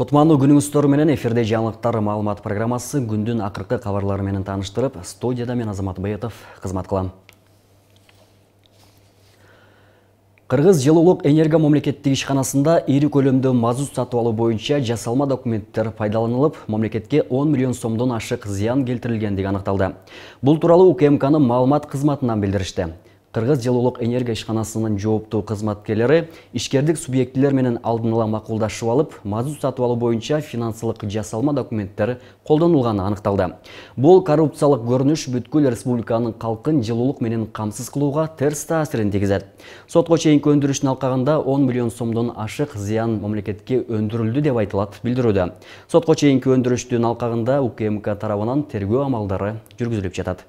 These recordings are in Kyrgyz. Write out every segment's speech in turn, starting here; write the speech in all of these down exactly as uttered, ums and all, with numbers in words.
Кутмандуу күнүңүздөр менен эфирде жаңылыктар маалымат программасы күндүн акыркы кабарлары менен тааныштырып, студияда мен Азамат Баетов кызмат кылам. Кыргыз жылуулук энерго мамлекеттик ишканасында ири көлөмдө мазут сатып алуу боюнча жасалма документтер пайдаланылып, мамлекетке он миллион сомдон ашык зыян келтирилгендиги аныкталды. Бул тууралуу У К М К'нын маалымат кызматынан билдиришти. Кыргыз жылуулук энерго ишканасынын жооптуу кызматкерлери ишкердик субъектилер менен алдын ала макулдашып алып, мазут сатып алуу боюнча финансылык жасалма документтер колдонулганы аныкталды. Бул коррупциялык көрүнүш бүткүл республиканын калкын жылуулук менен камсыз кылууга терс таасирин тийгизет. Сотко чейинки өндүрүштүн алкагында он миллион сомдон ашык зыян мамлекетке өндүрүлдү деп айтылат билдирүүдө. Сотко чейинки өндүрүштүн алкагында У К М К тарабынан тергөө амалдары жүргүзүлүп жатат.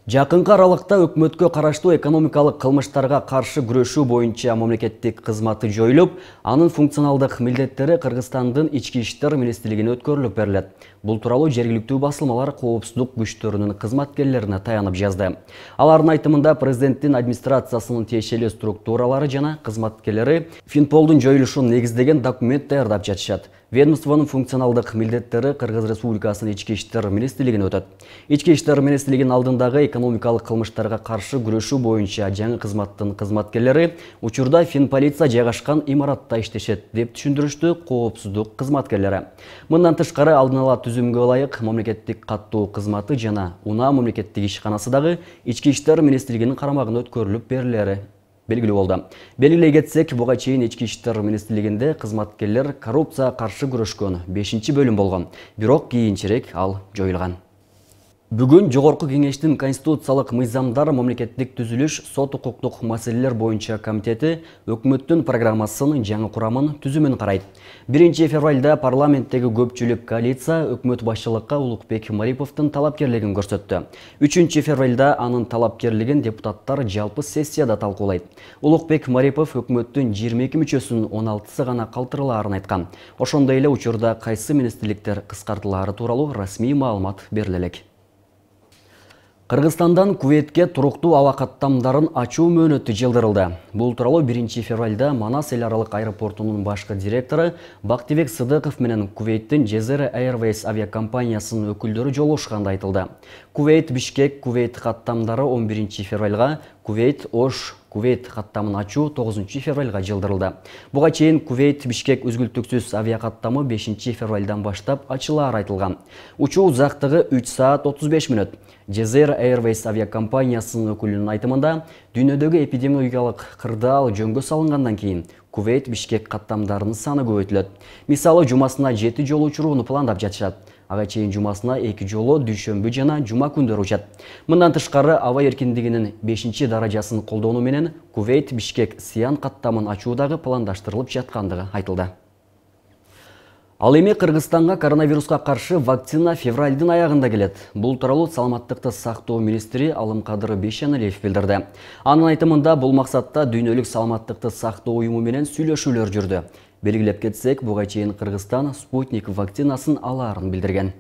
Жакынкы аралыкта өкмөткө караштуу экономикалык кылмыштарга каршы күрөшүү боюнча мамлекеттик кызматы жоюлуп, анын функционалдык милдеттери Кыргызстандын ички иштер министрлигине өткөрүлүп берилет. Бул тууралуу жергиликтүү басылмалар коопсуздук күчтөрүнүн кызматкерлерине таянып жазды. Алардын айтымында президенттин администрациясынын тиешелүү структуралары жана кызматкерлери Финполдун жоюлушун негиздеген документ даярдап жатышат. Ведомствонун функционалдык милдеттери Кыргыз Республикасынын ички иштер министрлигине өтөт. Ички иштер министрлигинин алдындагы экономикалык кылмыштарга каршы күрөшүү боюнча жаңы кызматтын кызматкерлери учурда Финполиция жайгашкан имаратта иштешет деп түшүндүрүштү коопсуздук кызматкерлери. Мындан тышкары алдын ала түзүмгө ылайык мамлекеттик каттоо кызматы жана Унаа мамлекеттик ишканасы дагы ички иштер министрлигинин карамагына өткөрүлүп берилери белгилүү болду. Белгилей кетсек, буга чейин ички иштер министрлигинде кызматкерлер коррупцияга каршы күрөшкөн бешинчи бөлүм болгон, бирок кийинчерээк ал жоюлган. Бүгүн Жогорку Кеңештин Конституциялык мыйзамдар мамлекеттик түзүлүш сот укуктук маселелер боюнча комитети өкмөттүн программасынын жаңы курамын түзүмүн карайт. биринчи февралда парламенттеги көпчүлүк коалиция өкмөт башчылыкка Улукбек Мариповдун талапкерлигин көрсөттү. үчүнчү февралда анын талапкерлигин депутаттар жалпы сессияда талкуулайт. Улукбек Марипов өкмөттүн жыйырма эки мүчөсүнүн он алтысы гана калтырылаарын айткан. Ошондой эле учурда кайсы министрликтер кыскартылаары тууралуу расмий маалымат бериле элек. Кыргызстандан Кувейтке туруктуу аба каттамдарын ачуу мөөнөтү жылдырылды. Бул тууралуу биринчи февралда Манас эл аралык аэропортунун башкы директору Бактыбек Сыдыков менен Кувейттин Jazeera Airways авиакомпаниясынын өкүлдөрү жолугушканда айтылды. Кувейт Бишкек Кувейт каттамдары он биринчи февралга, Кувейт Ош Кувейт каттамын ачуу тогузунчу февралга жылдырылды. Буга чейин Кувейт Бишкек үзгүлтүксүз авиакаттамы бешинчи февралдан баштап ачылаары айтылган. Учуу узактыгы үч саат отуз беш мүнөт. Jazeera Airways авиакомпаниясынын өкүлүнүн айтымында, дүйнөдөгү эпидемиологиялык кырдаал жөнгө салынгандан кийин Кувейт Бишкек каттамдарынын саны көбөйтүлөт. Мисалы, жумасына жети жолу учурууну пландап жатышат. Ага чейин жумасына эки жолу дүйшөмбү жана жума күндөрү учат. Мындан тышкары аба эркиндигинин бешинчи даражасын колдонуу менен Кувейт Бишкек Сиан каттамын ачуудагы пландаштырылып жаткандыгы айтылды. Ал эми Кыргызстанга коронавируска каршы вакцина февралдын аягында келет. Бул тууралуу саламаттыкты сактоо министри Алымкадыр Бейшеналиев билдирди. Анын айтымында бул максатта дүйнөлүк саламаттыкты сактоо уюму менен сүйлөшүүлөр жүрдү. Белгилеп кетсек, буга чейин Кыргызстан Спутник вакцинасын алаарын билдирген.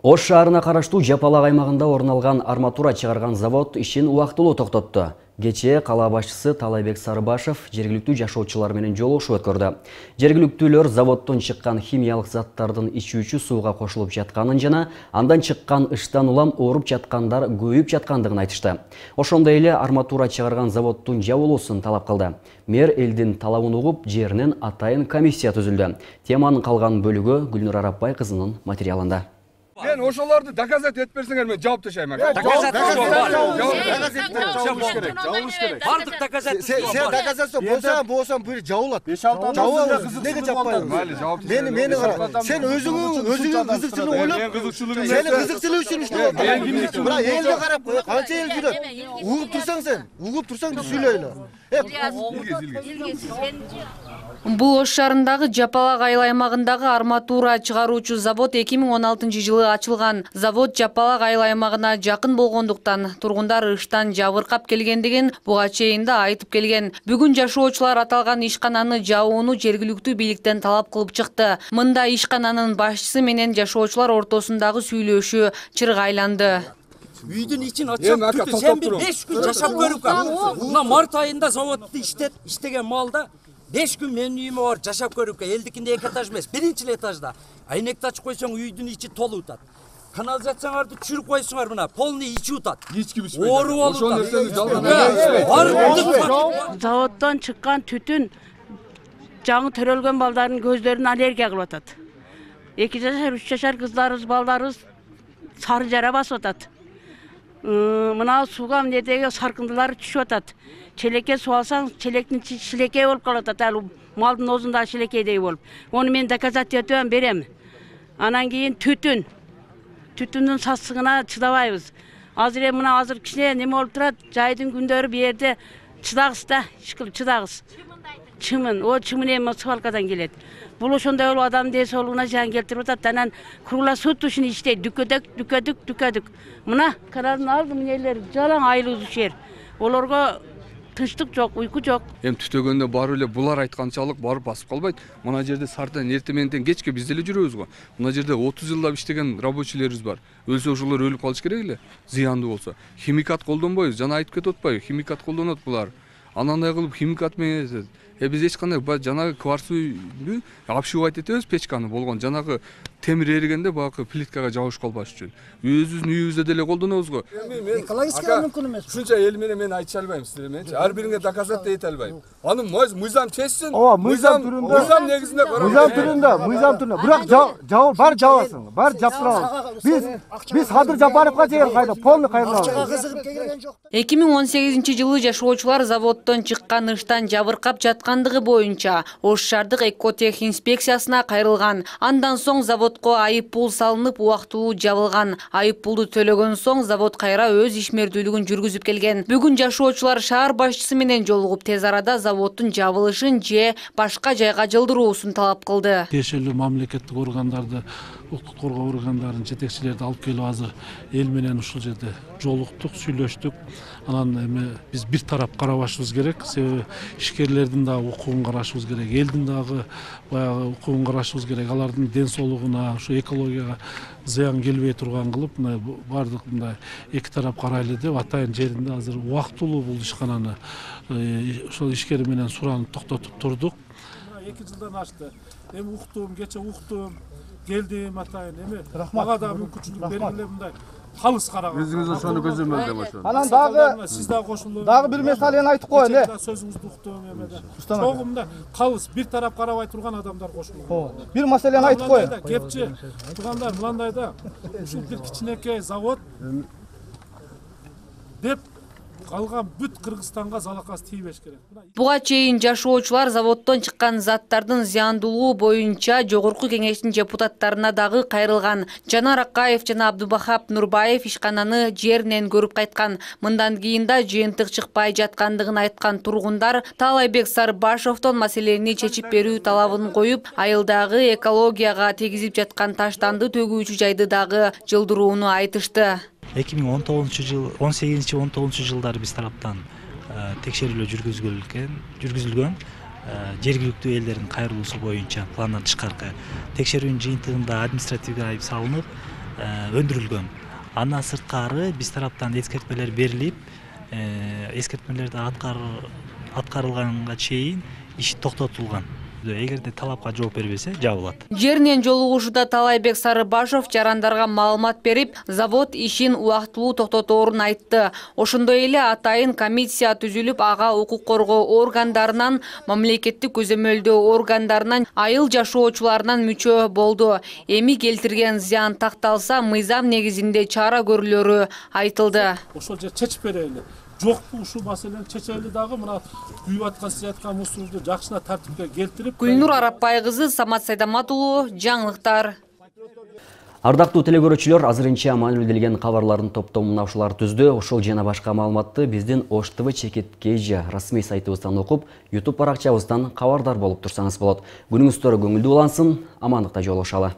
Ош шаарына караштуу Жапалак аймагында орун алган арматура чыгарган завод ишин убактылуу токтотту. Кечээ кала башчысы Талайбек Сарыбашев жергиликтүү жашоочулар менен жолугушуу өткөрдү. Жергиликтүүлөр заводдон чыккан химиялык заттардын ичүүчү сууга кошулуп жатканын жана андан чыккан ыштан улам ооруп жаткандар көбөйүп жаткандыгын айтышты. Ошондой эле арматура чыгарган заводдун жабылуусун талап кылды. Мэр элдин талабын угуп, жеринен атайын комиссия түзүлдү. Теманын калган бөлүгү Гүлнур Арапбай кызынын материалында. Мен ошолорду доказать этип берсеңер мен жооп ташайм. Доказать керек. Бардык доказать. Сен доказация болса, болса бир жабылат. Жабылат. Неге жаппайсың? Мени мени кара. Сен өзүңүң өзүңүң кызыкчылык ойлоп, сени кызыкчылык үчүн иштеп атасың. Бирок элге карап, канча эл жүрөт? Угуп турсаң сен, угуп турсаң сүйлөйлө. Бул Ош шаарындагы Жапалак айыл аймагындагы арматура чыгаруучу завод эки миң он алтынчы жылы ачылган. Завод Жапалак айыл аймагына жакын болгондуктан тургундар ыштан жабыркап келгендигин буга чейин да айтып келген. Бүгүн жашоочулар аталган ишкананы жабууну жергиликтүү бийликтен талап кылып чыкты. Мында ишкананын башчысы менен жашоочулар ортосундагы сүйлөшүү чырга айланды. Үйдүн ичин ачып, сен бир беш күн жашап көрүп кал. Мына март айында заводду иштет, иштеген малда беш күн менин үйүмө барып жашап көрүпкө, элдикинде эки этаж эмес, биринчи этажда. Айнекти ачып койсоң үйдүн ичи толуп атат. Канализацияларды түшүрүп койсуңар мына, полный ичи утат. Эч ким ичпейт. Оору болуп Ошол атат. нерсени жалган. Заводдон чыккан түтүн жаңы төрөлгөн балдардын көздөрүн аллергия кылып атат. эки жашар, үч жашар кыздарыбыз, балдарыбыз сары жара басып атат. Мына сууга эмнедеги саркындылар түшүп атат. Челекке суу алсаң, челектин ичи шилекей болуп калып атат. Ал малдын оозунда шилекейдей болуп. Ону мен доказать этебем, берем. Анан кийин түтүн. Түтүндүн сасыгына чыдабайбыз. Азыр эми мына азыр кичине неме болуп турат, жайдын күндөрү бу жерде чыдагыс да, ишкил чыдагыс. Чымын, о чымын эми свалкадан келет. Бул ошондой болуп адамдын ден соолугуна зыян келтирип атат. Анан круглосуточный иштейт, дүкөдүк, дүкөдүк, дүкөдүк. Мына каналдын алдын элер жалаң айлуу жер. Олорго тынчтык жок, уйку жок. Эми түтөгөндө барып эле булар айтканчалык барып басып калбайт. Мына жерде сартан эрте менен кечке биз деле жүрөбүз го. Мына жерде отуз жылдап иштеген рабочийлерибиз бар. Өлсө ошолор өлүп калыш керек эле. Зыяндуу болсо. Химикат колдонбойбуз. Жана айтып кетип атпайбы? Химикат колдонот булар. Анандай кылып химикат менен Э биз эч кандай жанагы кварцуйду обшивать этебиз печканы болгон. Жанагы темир эригенде багы плиткага жабыш калбаш үчүн. Өзүбүздүн үйүбүздө деле колдонобуз го. Экологически мүмкүн эмес. Ушунча эл менен мен айтыша албайм силер мененчи. Ар бириңе доказать эте албайм. Аны мыйзам чечсин. Ооба, мыйзам түрүндө. Мыйзам негизинде карап. Мыйзам түрүндө, мыйзам түрүндө. Бирок жабыл, бар жабасың, бар жаптырабыз. Биз биз Кадыр Жапаровго чейин кайда полный кайрылабыз. эки миң он сегизинчи жылы жашоочулар заводдон чыккан ыштан жабыркап жаткандыгы боюнча Ош шаардык экотех инспекциясына кайрылган. Андан соң заводко айып пул салынып, убактылуу жабылган. Айып пулду төлөгөн соң завод кайра өз ишмердүүлүгүн жүргүзүп келген. Бүгүн жашоочулар шаар башчысы менен жолугуп, тез арада заводдун жабылышын же башка жайга жылдыруусун талап кылды. Тиешелүү мамлекеттик органдарды, укук коргоо органдарын жетекчилерди алып келип азыр эл менен ушул жерде жолуктук, сүйлөштүк. Анан эми биз бир тарап карабашыбыз керек. Себеби ишкерлердин да укугун карашыбыз керек, элдин дагы баягы укугун карашыбыз керек. Алардын ден соолугуна, ушу экологияга зыян келбей турган кылып, мына бардык мындай эки тарап карайлы деп атайын жеринде азыр убактылуу бул ишкананы ошол ишкери менен суранып токтотуп турдук. эки жылдан ашты. Эми уктум, кече уктум, келдим атайын. Эми мага дагы мүмкүнчүлүк бергиле мындай калыс караган. Өзүңүз ошону көзөмөл деп ошону. Анан дагы сиз дагы кошулуп. Дагы бир месалени айтып коеюн, э. Сөзүңүздү уктум эмеде. Чогумда калыс бир тарап карабай турган адамдар кошулган. бир маселени айтып коеюн. Кепчи туугандар мындайда ушул бир кичинекей завод деп калган бүт Кыргызстанга залакасы тийбеш керек. Буга чейин жашоочулар заводдон чыккан заттардын зыяндуулугу боюнча жогорку кеңештин депутаттарына дагы кайрылган. Жанар Акаев жана Абдубахап Нурбаев ишкананы жеринен көрүп кайткан. Мындан кийин да жыйынтык чыкпай жаткандыгын айткан тургундар Таалайбек Сарбашовдон маселени чечип берүү талабын коюп, айылдагы экологияга тийгизип жаткан таштанды төгүүчү жайды дагы жылдырууну айтышты. эки миң он тогузунчу жыл, он сегизинчи он тогузунчу жылдары биз тараптан текшерүүлөр жүргүзүлгөн, жүргүзүлгөн жергиликтүү элдердин кайрылуусу боюнча пландан тышкаркы текшерүүнүн жыйынтыгында административдик айып салынып, өндүрүлгөн. Андан сырткары биз тараптан эскертмелер берилип, эскертмелерди аткарылганга чейин иш токтотулган. Эгерде талапка жооп бербесе, жабылат. Жеринен жолугушууда Таалайбек Сарыбашов жарандарга маалымат берип, завод ишин убактылуу токтоторун айтты. Ошондой эле атайын комиссия түзүлүп, ага укук коргоо органдарынан, мамлекеттик көзөмөлдөө органдарынан, айыл жашоочуларынан мүчө болду. Эми келтирген зыян такталса, мыйзам негизинде чара көрүлөрү айтылды. Ошол жер чечип берели. Жокпу ушул маселени чечели дагы мына күйүп аткан сыяткан мусорду жакшына тартипке келтирип. Гүлнур Арапбай кызы, Самат Сайдамат уулу, жаңылыктар. Ардактуу телекөрүүчүлөр, азырынча маалымделген кабарлардын топтомун ушулар түздү. Ошол жана башка маалыматты биздин Ош ТВ чекит кж расмий сайтыбыздан окуп, YouTube баракчабыздан кабардар болуп турсаңыз болот. Күнүңүздөр көңүлдүү улансын, амандыкта жолугушалы.